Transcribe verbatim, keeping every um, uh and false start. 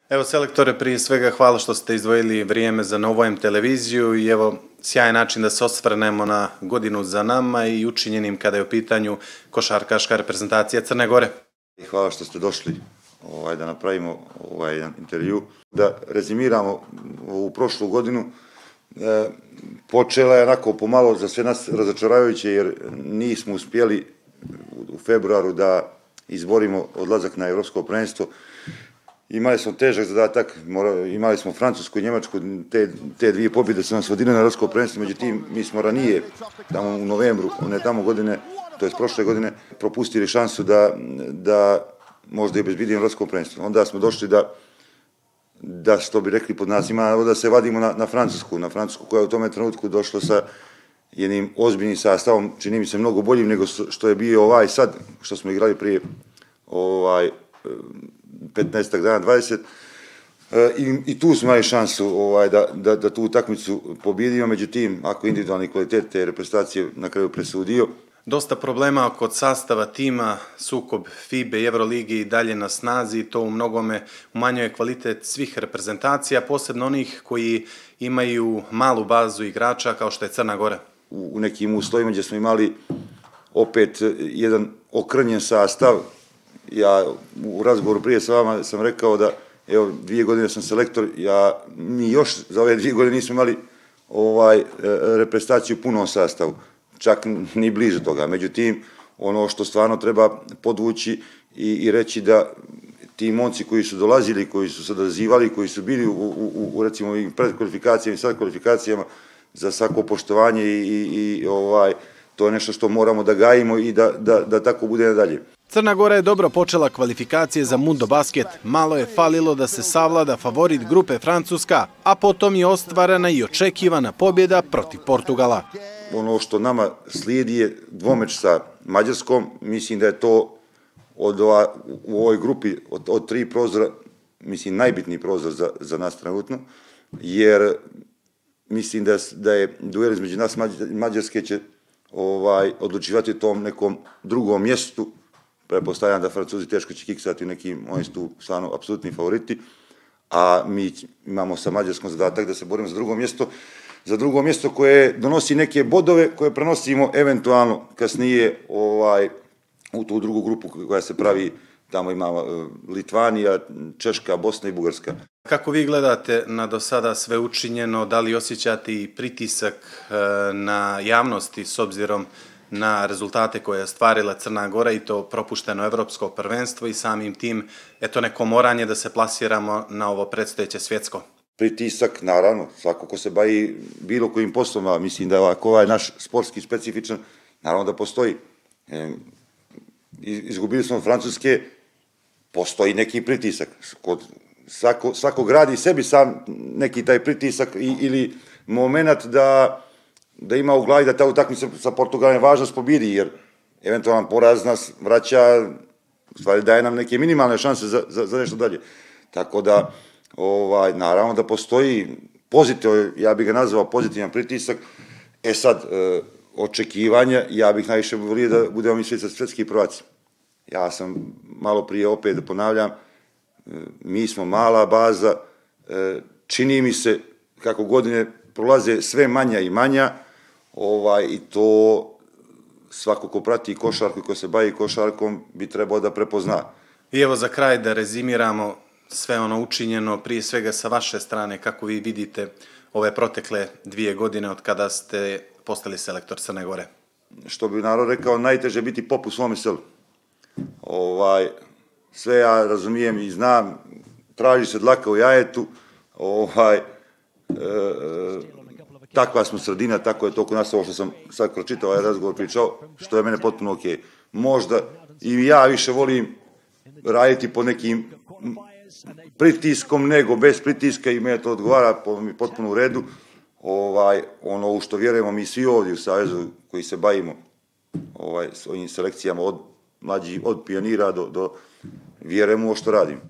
Evo, selektore, prije svega hvala što ste izdvojili vrijeme za Nova em televiziju i evo, sjajan način da se osvrnemo na godinu za nama i učinjenim kada je u pitanju košarkaška reprezentacija Crne Gore. Hvala što ste došli ovaj, da napravimo ovaj jedan intervju. Da rezimiramo ovu prošlu godinu. E, počela je onako pomalo za sve nas razočaravajuće jer nismo uspjeli u februaru da izborimo odlazak na Evropsko prvenstvo. Imali smo težak zadatak, imali smo Francusku i Njemačku, te, te dvije pobjede su nas vodile na Evropsko prvenstvo, međutim mi smo ranije, tamo u novembru, one tamo godine, to je prošle godine, propustili šansu da, da možda i obezbedimo Evropsko prvenstvo. Onda smo došli da, da što bi rekli pod nas, ima da se vadimo na, na Francusku, na Francusku koja je u tome trenutku došlo sa jednim ozbiljnim sastavom, čini mi se mnogo boljim nego što je bio ovaj sad, što smo igrali prije ovaj, petnaestak dana, dvadeset. I, i tu smo imali šansu ovaj, da, da, da tu utakmicu pobjedimo, međutim, ako individualni kvalitet te reprezentacije na kraju presudio. Dosta problema kod sastava tima, sukob FIBE i Euroligi i dalje na snazi, to u mnogome umanjuje kvalitet svih reprezentacija, posebno onih koji imaju malu bazu igrača kao što je Crna Gora. U, u nekim uslovima gdje smo imali opet jedan okrnjen sastav. Ja u razgovoru prije sa vama sam rekao da, evo, dvije godine sam selektor, ja, mi još za ove dvije godine nismo imali ovaj, reprezentaciju u punom sastavu, čak ni bliže toga. Međutim, ono što stvarno treba podvući i, i reći da ti momci koji su dolazili, koji su se odazivali, koji su bili u, u, u recimo, i predkvalifikacijama i sad kvalifikacijama, za svako poštovanje i, i, i ovaj, to je nešto što moramo da gajimo i da, da, da tako bude nadalje. Crna Gora je dobro počela kvalifikacije za Mundo Basket. Malo je falilo da se savlada favorit grupe Francuska, a potom je ostvarana i očekivana pobjeda protiv Portugala. Ono što nama slijedi je dvomeč sa Mađarskom. Mislim da je to od ova, u ovoj grupi od, od tri prozora, mislim, najbitniji prozor za, za nas trenutno, jer mislim da, da je duel između nas i Mađarske će ovaj, odlučivati u tom nekom drugom mjestu. Pretpostavljam da Francuzi teško će kiksati u nekim, oni su tu stvarno apsolutni favoriti, a mi imamo sa Mađarskom zadatak da se borimo za drugo mjesto, za drugo mjesto koje donosi neke bodove koje prenosimo eventualno kasnije ovaj, u tu drugu grupu koja se pravi, tamo ima Litvanija, Češka, Bosna i Bugarska. Kako vi gledate na do sada sve učinjeno, da li osjećate i pritisak na javnosti s obzirom na rezultate koje je stvarila Crna Gora i to propušteno evropsko prvenstvo i samim tim, eto, neko moranje da se plasiramo na ovo predstojeće svjetsko? Pritisak, naravno, svako ko se bavi bilo kojim poslom, mislim da je ovako ovaj naš sportski specifičan, naravno da postoji. E, izgubili smo Francuske, postoji neki pritisak. Kod svako, svako gradi sebi sam neki taj pritisak i, ili moment da da ima u glavi da ta utakmica sa Portugalom je važnost pobjedi, jer eventualan poraz nas vraća, u stvari daje nam neke minimalne šanse za, za, za nešto dalje. Tako da, ovaj, naravno da postoji pozitiv, ja bih ga nazvao pozitivan pritisak. E sad, e, očekivanja, ja bih najviše volio da budemo mi svjetski prvaci. Ja sam malo prije opet da ponavljam, e, mi smo mala baza, e, čini mi se kako godine prolaze sve manja i manja, ovaj, i to svako ko prati košarku i ko se bavi košarkom bi trebao da prepozna. I evo za kraj da rezimiramo sve ono učinjeno, prije svega sa vaše strane, kako vi vidite ove protekle dvije godine od kada ste postali selektor Crne Gore. Što bi narod rekao, najteže biti pop u svome selu. Ovaj, sve ja razumijem i znam, traži se dlaka u jajetu, ovaj, e, takva smo sredina, tako je to kod nas ovo što sam sad pročitao, ovaj razgovor pričao, što je mene potpuno okej. Okay. Možda i ja više volim raditi po nekim pritiskom nego bez pritiska i mene to odgovara, potpuno u redu. Ovaj, ono u što vjerujemo mi svi ovdje u Savezu koji se bavimo ovaj, s ovim selekcijama od mlađih, od pionira do, do vjerujemo u što radimo.